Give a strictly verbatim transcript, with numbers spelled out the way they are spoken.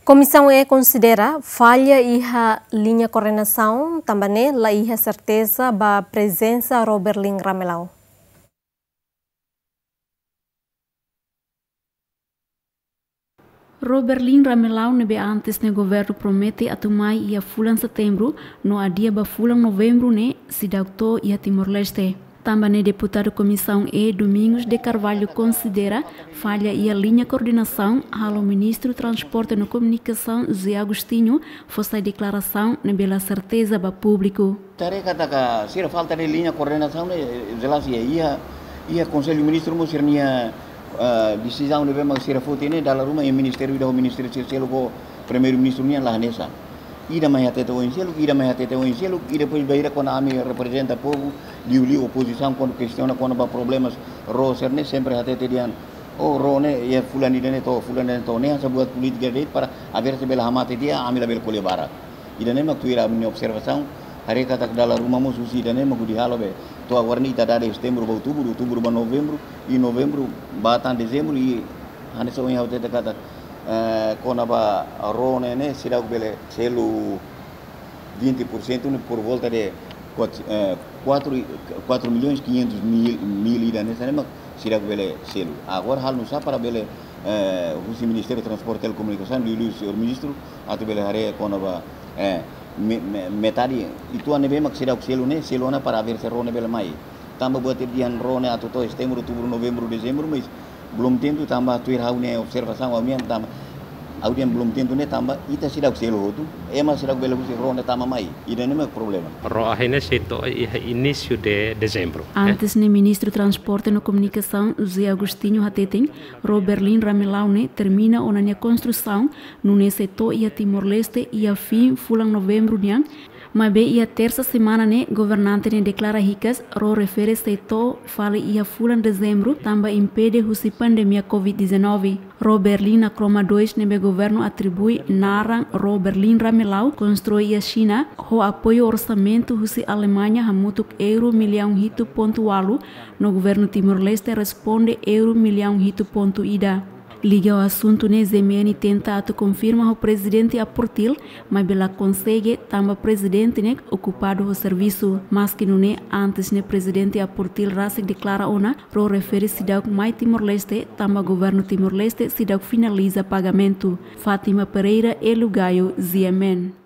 Komisaun E konsidera falla iha liña koordenasaun, tanba ne'e la iha serteza ba prezensa Roberlin Ramelau. Roberlin Ramelau ne'ebé antes ne'e governu promete atu mai iha fulan Setembru, no adia ba fulan Novembru ne'e seidauk to'o iha Timor-Leste. Tanba ne'e deputadu Komisaun E Domingos de Carvalho konsidera falla iha liña koordenasaun, halo Ministru Transporte no Komunikasaun José Agostinho fó sai deklarasaun ne'ebé la serteza ba públiku. Ita haree katak sira falta de liña koordenasaun ne'e, eh, jelas iha, iha, iha Konsellu Ministru mós sira-nia, ah, desizaun ne'ebé mak sira foti ne'e dala ruma iha ministériu ida ho ministériu sira seluk ho Primeiru-Ministru nian la hanesan. Ida mai hatete oin seluk, ida mai hatete oin seluk, i depois bainhira kuandu ami reprezenta povu, liuliu opozisaun kuandu kestiona kona-ba problemas ró sira-ne'e sempre hatete dehan, oh, ró ne'e iha fulan ida-ne'e to'o, fulan ida-ne'e to'o, ne'e hanesan buat polítika de'it para aver se bele hamate tiha, ami labele ko'alia barak. Ida-ne'e mak tuir ami-nia observasaun, haree katak dala ruma mós husi ida-ne'e mak hodi halo be. To'o agora ne'e ita dada Setembru ba Outubru, Outubru ba Novembru, i Novembru ba tan Dezembru, i hanesan ohin ha'u hatete katak, eh, kona-ba ró ne'e, ne'e seidauk bele selu vinte por cento ne'e por volta de quatro, eh, quatro, quatro milhões quinhentos mil, mil ida-ne'e, hanesan ne'e mak seidauk bele selu. Agora halo nusá para bele, eh, husi Ministériu Transporte e Telekomunikasaun, liuliu señór Ministru, atu bele haree kona-ba, eh, me-, me-, metade uitoan ne'ebé mak seidauk selu ne'e, selu ona para aver se ró ne'e bele mai. Tanba buat ida dehan ró ne'e atu to'o Setembru, Outubru, Novembru, Dezembru, mas belum tentu tanba tuir ha'u-nia observasaun, ha'u-nian tanba, ha'u dehan belum tentu ne'e tanba ita seidauk selu hotu, ema seidauk bele husi ró ne'e tama mai. Ida-ne'e mak problema. Ró ahi ne'e sei to'o iha inísiu de Dezembru, eh? Antes ne'e Ministru Transporte no Komunikasaun José Agostinho hateten, Roberlin Ramelau ne'e termina ona nia konstrusaun, nune'e sei to'o iha Timor-Leste iha fin fulan Novembru nian, maibé iha tersa semana ne'e governante ne'e deklara hikas ró refere sei to'o fali iha fulan Dezembru tanba impede husi pandemia covid dezanove. Ró Berlin Nakromo dois ne'ebé governu atribui naran Ró Berlin Ramelau konstrui iha Xina ho apoiu orsamentu husi Alemaña hamutuk euro millaun hitu pontu ualu, no governu Timor-Leste responde euro millaun hitu pontu ida. Liga ho asuntu ne'e, G M N tenta atu konfirma ho Prezidente Aportil, maibé la konsege tanba Prezidente ne'e okupadu ho servisu. Maski nune'e, antes ne'e Prezidente Aportil rasik deklara ona ró refere seidauk mai Timor-Leste tanba governu Timor-Leste seidauk finaliza pagamentu. Fátima Pereira, Hélio Gaio, G M N.